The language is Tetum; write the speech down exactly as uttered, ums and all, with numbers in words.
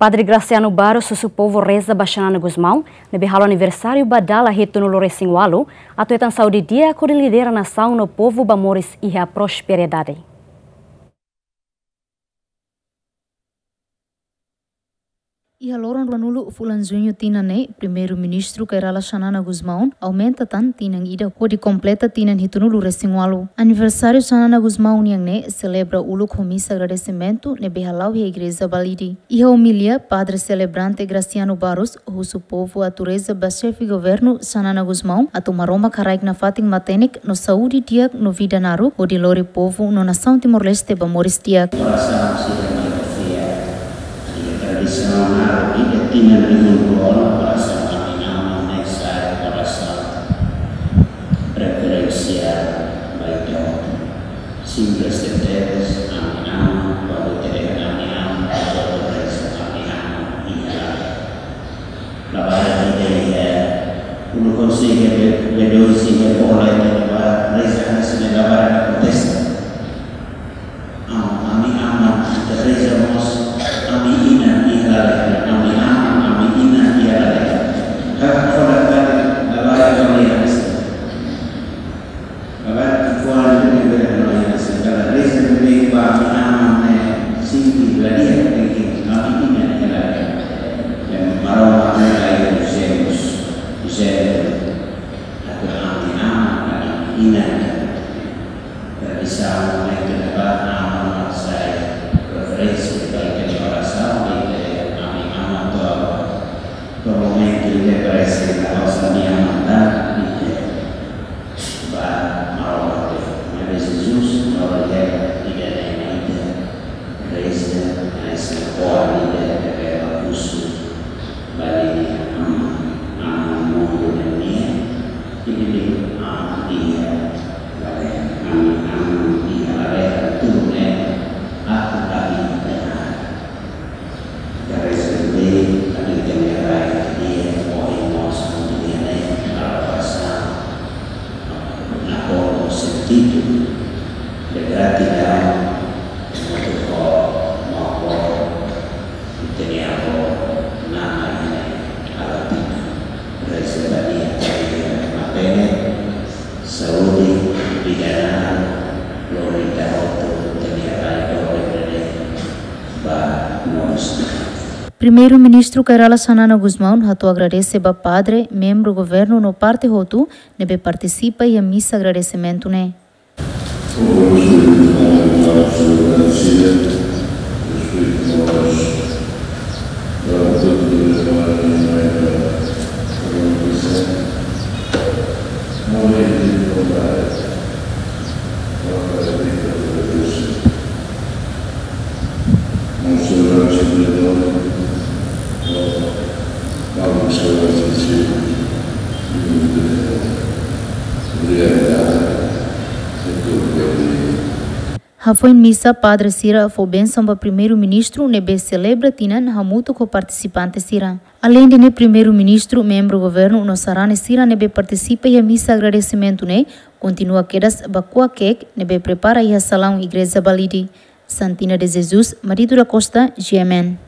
Padre Graciano Barros husu povu reza ba Xanana Gusmão, ne'ebé halo aniversáriu ba dala hitunulu-resin-ualu, atu hetan saúde di'ak hodi lidera nasaun no povu ba moris iha prosperidade. Iha loron ruanulu fulan Juñu tinan ne'e, Primeiru-Ministru Kay Rala Xanana Gusmão aumenta tan tinan ida hodi kompleta tinan hitunulu-resin-ualu. Aniversáriu Xanana Gusmão nian ne'e selebra uluk ho misa agradesimentu ne'ebé hala'o iha Igreja Balide. Iha omilia, Padre Selebrante Graciano Barros husu povu atu reza ba Xefe Governu Xanana Gusmão atu Maromak haraik nafatin matenek no saúde di'ak no vida naruk hodi lori povu no nasaun Timor-Leste ba moris di'ak. Orasaun sira mai konfia. Iha tradisaun naruk ida tinan rihun rua ona, orasaun ami-aman ne'e sai orasaun referensiál ba ita hotu. Simples tebes, ami-aman, kuandu ita dehan ami-aman, ita hotu reza ami-aman iha labarik ida iha uluk konsellu B dois iha Bohol, ita labarik reza hanesan ne'e, labarik protesta. Am-, ami-aman, ita reza mós ami-inan iha lalehan, ami-aman, ami-inan iha lalehan. Hak foda kali labarik kami hanesan ne'e. Labarik ki'ikoan ne'e bele hanoin hanesan ne'e. Kala reza ne'ebé ba ami-aman ne'e sente la di'ak, tenke ami-inan iha lalehan. Maromak ne'e ita usemos, usemos. Atu ami-aman, ami-inan. Tradisaun ne'e ita-nia ba aman mak sai referénsia ba ita-nia orasaun, ba ita-nia ami-aman to'o, to'o momentu ita presiza, osan ami-aman da, ita ba Maromak de'it. Maibé Jesus, Maromak de'it, ida-ne'e mak ita reza, hanesan oan ida ne'ebé husu ba ninia aman, aman mundu nian, ida-ne'e aman iha lalehan, ami-aman iha lalehan, tuir ne'e atu ami-aman. Ita reza de'it, atu ita-nia rai di'ak, ohin mós, ohin nian, halo orasaun, nakonu sentidu de gratidaun, hamutuk ho maun-boot, ita-nia avó, Nana, iha ne'e, halo tinan, reza ba nia, atu nia matenek, saúde, vida naruk, lori ita hotu, ita-nia rai doben ne'e ba moris. Primeiru-Ministru Kay Rala Xanana Gusmão hato'o agradese ba padre, membru governu no parte hotu ne'ebé partisipa iha misa agradesimentu ne'e. Como eu respeito o nome do nosso agradecida, respeito nós, para todos os irmãos e irmãs da organização, não é de vontade, não é de vontade. Hafoin misa, padre sira fó bensaun ba Primeiru-Ministru ne'ebé selebra tinan hamutuk ho partisipante sira. Aleinde ne'e, Primeiru-Ministru, membru governu no sarani sira ne'ebé partisipa iha misa agradesimentu ne'e kontinua kedas ba kuak keek ne'ebé prepara iha salaun Igreja Balide. Santina de Jesus, Marito da Costa, G M N.